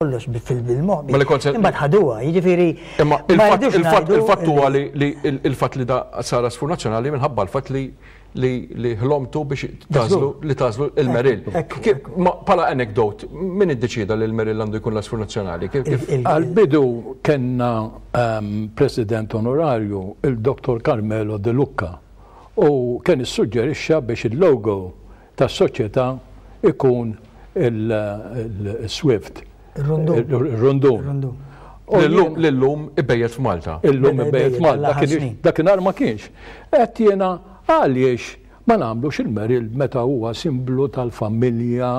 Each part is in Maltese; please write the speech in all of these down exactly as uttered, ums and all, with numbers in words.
Kollox fil-moħbi. Imbagħad ħaduha, jiġifieri. Imma il-fatt huwa li il-fatt li da sar għasfur nazzjonali minħabba l-fatt li li ħlomtu biex tagħżlu li tagħżlu il-Merill. Bħala anekdot, min iddeċida li l-Merill għandu jkun l-għasfur nazzjonali? Għal-bidu kellna ehm, president onorarju, il-Dottor Carmelo De Lucca, u kien issuġġerixxa biex il-logo tas-soċjetà ikun il-Swift. Il-Rundun. L-lum ibejjet f'Malta. Illum ibejjet f'Malta. Dakinhar ma kienx. Għedt jiena, għaliex ma nagħmlux il-Merill meta huwa simblu tal-familja,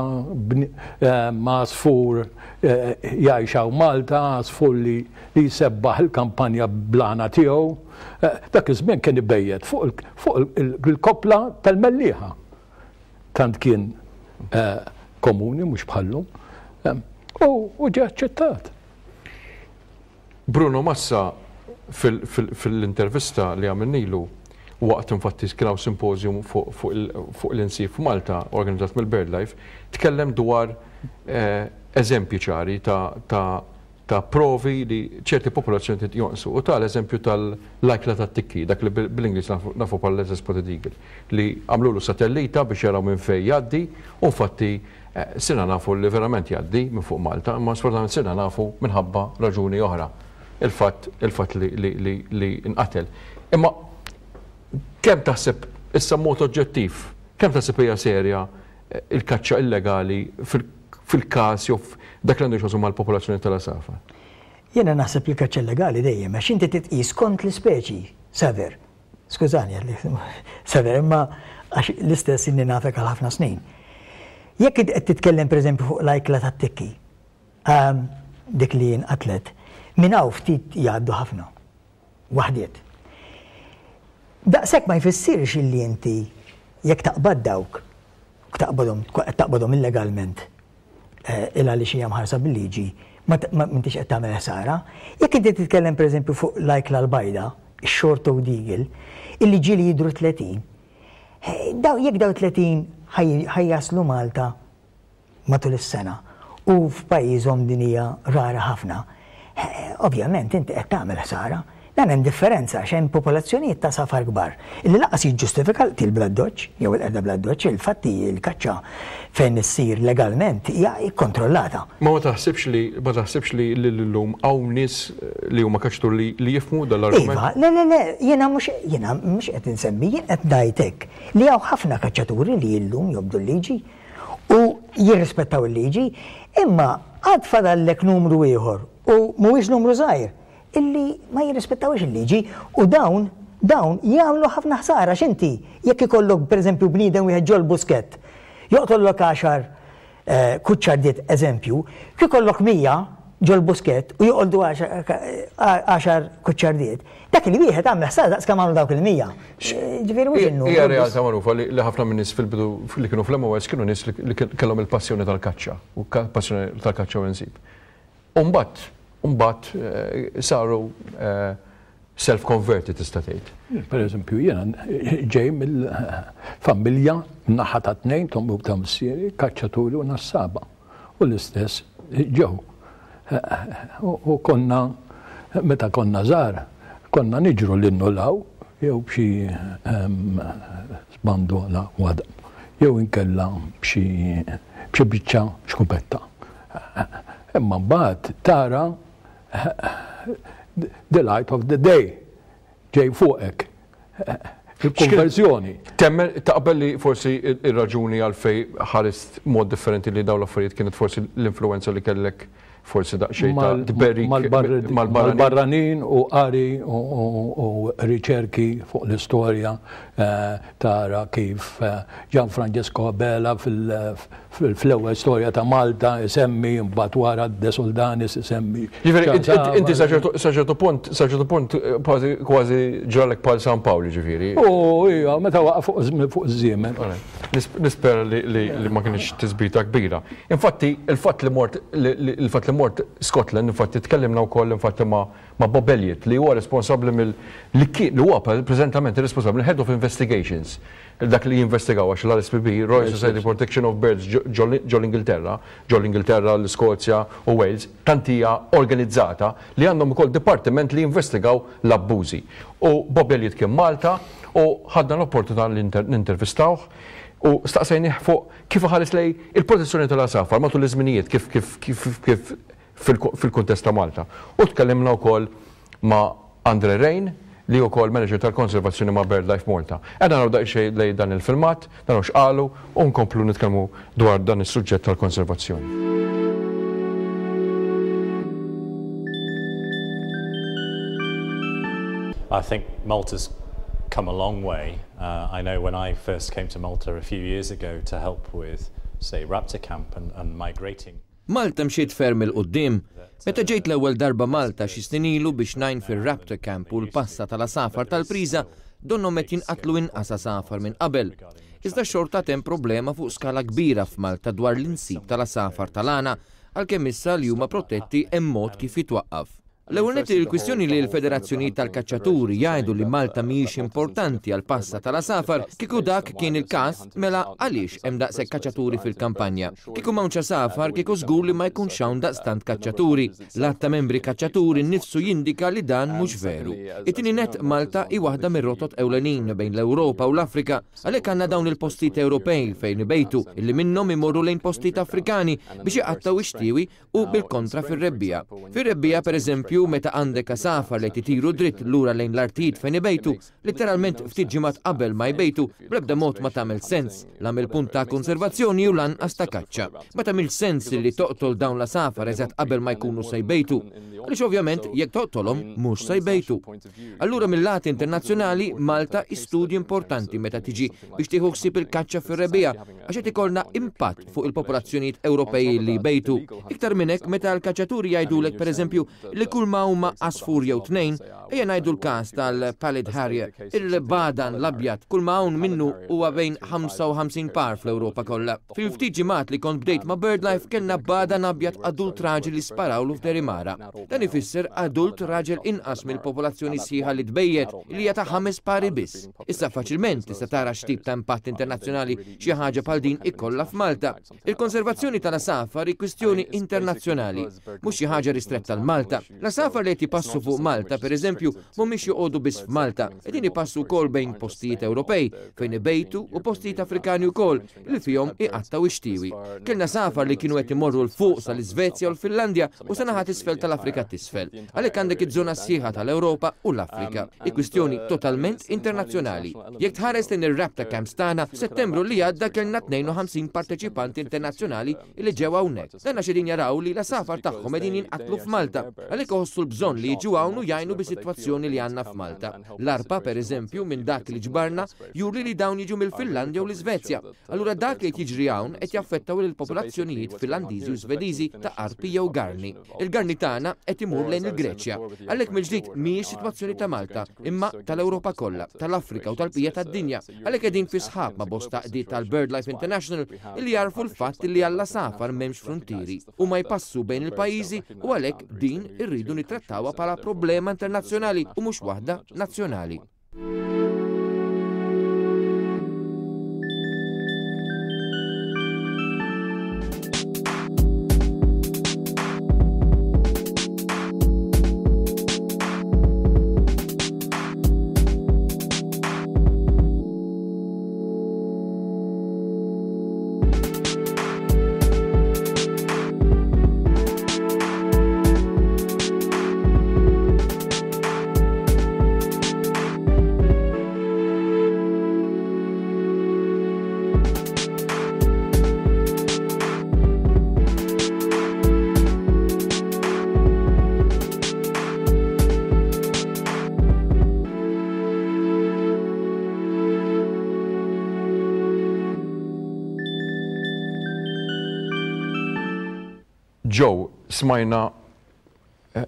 għasfur jgħix hawn Malta, għasfur li jsebbaħ il-kampanja bl-għana tiegħu. Dak iż-żmien kien ibejjet fuq il-koppla tal-Mellieħa. Tant kien komuni mhux bħallum. U ġie aċċettat. Bruno Massa fil-intervista li għamilnilu waqt, infatti kien hawn symposium fuq l-insib f'Malta organizzat mill-BirdLife, tkellem dwar eżempji ċari ta' provi li ċerti popolazzjoni jonqsu u tal-eżempju tal-ajkla tat-tikki, dak li bl-Ingliż nafu bħala Lesser Spotted Eagle, li għamlulu satellita biex jaraw minn fejn jgħaddi u infatti sirna nafu li verament jgħaddi minn fuq Malta, imma sfortunatament sirna nafu minħabba raġuni oħra, il-fatt il-fatt li li nqatel. Imma kemm taħseb issa mod oġġettiv, kemm taħseb hija serja il-kaċċa illegali fil-każ jew dak li għandu x'jaqsam mal-popolazzjoni tal-għasafar? Jiena naħseb li kaċċa illegali dejjem, għax inti titqis kont l-ispeċi, Saver. Skużani, Saver, imma għax l-istess inni nafek għal ħafna snin. Jekk qed titkellem, pereżempju, fuq l-ajkla tat-tikki, dik li jinqatlet, minn hawn ftit jgħaddu ħafna. Waħdiet. Daqshekk ma jfissirx illi inti jekk taqbad dawk, taqbadhom taqbadhom illegalment, il għaliex hija mħarsa bil-liġi, ma m'intix qed tagħmel ħsara. Jekk inti titkellem, pereżempju, fuq l-ajkla l-bajda, ix-short toed eagle, illi ġieli jidru tletin, daw jekk daw tletin ħa jaslu Malta matul is-sena u f'pajjiżhom din hija rara ħafna, ovvjament inti qed tagħmel ħsara. Dan hemm differenza għax hemm popolazzjonijiet ta' għasafar kbar illi lanqas jiġġustifika l-qtil bl-addoċċ jew il-qerda bl-addoċċ, il-fatti l-kaċċa fejn issir legalment hija kkontrollata. Ma ma taħsibx li ma taħsibx li llum hawn nies li huma kaċċatur li li jifhmu dal-argument? Iva, le, le, le, jiena mhux jiena mhux qed insemmi, jien qed ngħidlek li hawn ħafna kaċċaturi li llum jobdu l-liġi u jirrispettaw il-liġi, imma għad fadallek numru ieħor u mhuwiex numru żgħir illi ma jirrispettawx il-liġi u dawn dawn jagħmlu ħafna ħsara. X'inti jekk ikollok, pereżempju, bniedem wieħed ġol buskett joqtollok għaxar kuċċardiet, eżempju, kif ikollok mija ġol buskett u joqoldu għaxar kuċċardiet, dak li wieħed għamel ħsara daqs kemm għamlu dawk il-mija. Ġifieri mhux innu. Hija realtà magħrufa li ħafna minn nies fil-bidu li kienu fl-M O S kienu nies li kellhom il-passjoni tal-kaċċa u passjoni tal-kaċċa u insib. Umbagħad Mbagħad saru self-converted, tista' tgħid. Per eżempju, jiena ġej mill-familja naħa ta' tnejn, t'ommi u ta' missieri, kaċċaturi u nassaba. U l-istess ġew. U konna, meta konna żgħar, konna niġru l-innulaw, jew b'xi sbandola għadam, jew inkella b'xi biċċa xkupetta. Imma mbagħad tara the light of the day ġej fuqek. Il-konverzjoni. Temmen, taqbel li forsi ir-raġuni għalfej ħarist mod differenti li dawn l-affarijiet kienet forsi l-influenza li kellek, forsi daqsxejn ta' tberik mal-barranin u qari u riċerki fuq l-istorja, tara kif Gian Francesco Abela fil-ewwel storja ta' Malta isemmi, mbagħad wara De Soldanis isemmi. Ġifieri inti sa ċertu punt, sa ċertu punt kważi ġralek bħal San Pawl, ġifieri. U ija, meta waqa' fuq iż-żiemel. Nispera li ma kienx tisbita kbira. Infatti, il-fatt li mort il-fatt li mort Scotland, infatti tkellimna wkoll infatti ma' ma' Bob Elliott li huwa responsabbli mill li li huwa preżentament responsabbli Head of Investigations. dak li jinvestigaw għax l-R S P B, Royal Society Protection of Birds ġol Ingilterra, ġol Ingilterra, l-Skozja u Wales, tant hija organizzata li għandhom ukoll dipartiment li jinvestigaw l-abbużi. U Bob Elliott kien Malta u ħadna l-opportunità li nintervistawh u staqsejnih fuq kif ħares lejn il-protezzjoni tal-għasafar matul iż-żminijiet, kif kif kif kif fil-kuntest ta' Malta. U tkellimna wkoll ma' Andre Rain, li wkoll manager tal-konservazzjoni ma' BirdLife Malta. Ejja naraw daqsxejn lejn dan il-filmat, dan x'qalu u nkomplu nitkellmu dwar dan is-suġġett tal-konservazzjoni. I think Malta's come a long way. Uh, I know when I first came to Malta a few years ago to help with, say, Raptor Camp and, and migrating. Malta mxiet ferm 'il quddiem. Meta ġejt l-ewwel darba Malta xi snin ilu biex ngħin fir-Raptor Camp u l-passa tal-għasafar tal-priża, donnhom qed jinqatlu inqas għasafar minn qabel. Iżda xorta hemm problema fuq skala kbira f'Malta dwar l-insib tal-għasafar tal-għana, għalkemm issa li huma protetti hemm mod kif jitwaqqaf. L-ewwel nett, il-kwistjoni li l-federazzjoni tal-kaċċaturi jgħidu li Malta mhijiex importanti għal passa tal-għasafar, kieku dak kien il-każ, mela għaliex hemm daqshekk kaċċaturi fil-kampanja? Kieku m'hawnx għasafar, kieku żgur li ma jkunx hawn daqstant kaċċaturi. L-għadd ta' membri kaċċaturi nnifsu jindika li dan mhux veru. It-tieni net, Malta hi waħda mir-rotot ewlenin bejn l-Ewropa u l-Afrika, għalhekk għandna dawn il-postijiet Ewropej fejn ibejtu, illi minnhom imorru lejn postijiet Afrikani biex iqattgħu ix-xtiewi u bil-kontra fir-rebbiegħa. Fir-rebbiegħa, pereżempju, meta għandek għasafar li jtiru dritt lura lejn l-artijiet fejn ibejtu, literalment ftit ġimgħat qabel ma jbejtu, bl-ebda mod ma tagħmel sens, la mill-punt ta' konservazzjoni u lanqas ta' kaċċa. Ma tagħmel sens li toqtol dawn l-għasafar eżatt qabel ma jkunu se jbejtu. Għaliex ovvjament jekk toqtolhom mhux se jbejtu. Allura mill-lat internazzjonali Malta studju importanti meta tiġi biex tieħu ħsieb il-kaċċa fir-rebbiegħa, għax qed ikollna impatt fuq il-popolazzjonijiet Ewropej li jbejtu. Iktar minn hekk, meta l-kaċċaturi jgħidulek, pereżempju, li kull ma huma għasfur jew tnejn, ejja ngħidu l-każ tal-Pallid Harrier, il-bagħdan l-abjad, kull ma hawn minnu huwa bejn ħamsa u ħamsin par fl-Ewropa kollha. Fil-ftit ġimgħat li kont bdejt ma' BirdLife kellna bagħdan abjad adult raġel li sparawlu f'Derimara. Dan ifisser adult raġel inqas mill-popolazzjoni sħiħa li tbejjet, li hija ta' ħames pari biss. Issa faċilment tista' tara x'tip ta' impatt internazzjonali xi ħaġa bħal din ikollha f'Malta. Il-konservazzjoni tal-għasafar hi kwistjoni internazzjonali, mhux xi ħaġa ristretta għal Malta. L-għasafar li qed jpassu fuq Malta, pereżempju, mhumiex joqogħdu biss f'Malta, qegħdin ipassu wkoll bejn postijiet Ewropej fejn ibejtu u postijiet Afrikani wkoll li fihom iqattgħu ix-xtiewi. Kellna għasafar li kienu qed imorru 'l fuq sal-Iżvezja u l-Finlandja u sa naħa t'isfel tal-Afrika t'isfel. Għalhekk għandek iż-żona sħiħa tal-Ewropa u l-Afrika. Hi kwistjoni totalment internazzjonali. Jekk tħares lejn ir-Raptor Camps tagħna, f'Settembru li għadda kellna tnejn u ħamsin parteċipanti internazzjonali li ġew hawnhekk. Dan għax qegħdin jaraw li l-għasafar tagħhom qegħdin jinqatlu f'Malta. Għalhekk iħossu l-bżonn li jiġu hawn u jgħinu bis-sitwazzjoni li għandna f'Malta. L-ARPA, per eżempju, minn dak li ġbarna, juri li dawn jiġu mill-Finlandja u l-Iżvezja. Allura dak li qed jiġri hawn qed jaffettaw lill-popolazzjonijiet Finlandiżi u Svediżi ta' arpi jew garni. Il-garni tagħna qed imur lejn il-Greċja. Għalhekk mill-ġdid mhijiex sitwazzjoni ta' Malta, imma tal-Ewropa kollha, tal-Afrika u tal-bqija tad-dinja. Għalhekk qegħdin fi sħab ma' bosta għaqdiet tal-BirdLife International li jarfu l-fatt li għall-għasafar m'hemmx frontieri u ma jpassu bejn il-pajjiżi, u għalhekk din irridu nittrattawha bħala problema internazzjonali u mhux waħda nazzjonali. Joe, smajna eh,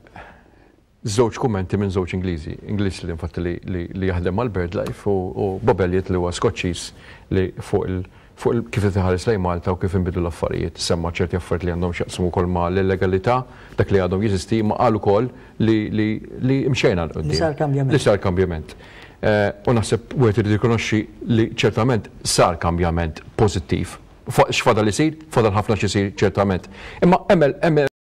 żewġ kummenti minn żewġ Ingliżi. Ingliż li infatti li, li, li jaħdem mal-BirdLife u, u Bob Elliott li huwa Skoċċiż li fuq il fuq il kif iħares lejn Malta u kif inbidlu l-affarijiet, semma ċerti affarijiet li għandhom x'jaqsmu wkoll ma' l-illegalità, dak li għadhom jeżisti, ma qal ukoll li li li mxejna 'l Li sar kambjament. Li sar kambjament. Eh, u naħseb wieħed irid jikkonoxxi li ċertament sar kambjament pożittiv. X'fadal isir? Fadal ħafna x'isir ċertament. Imma hemm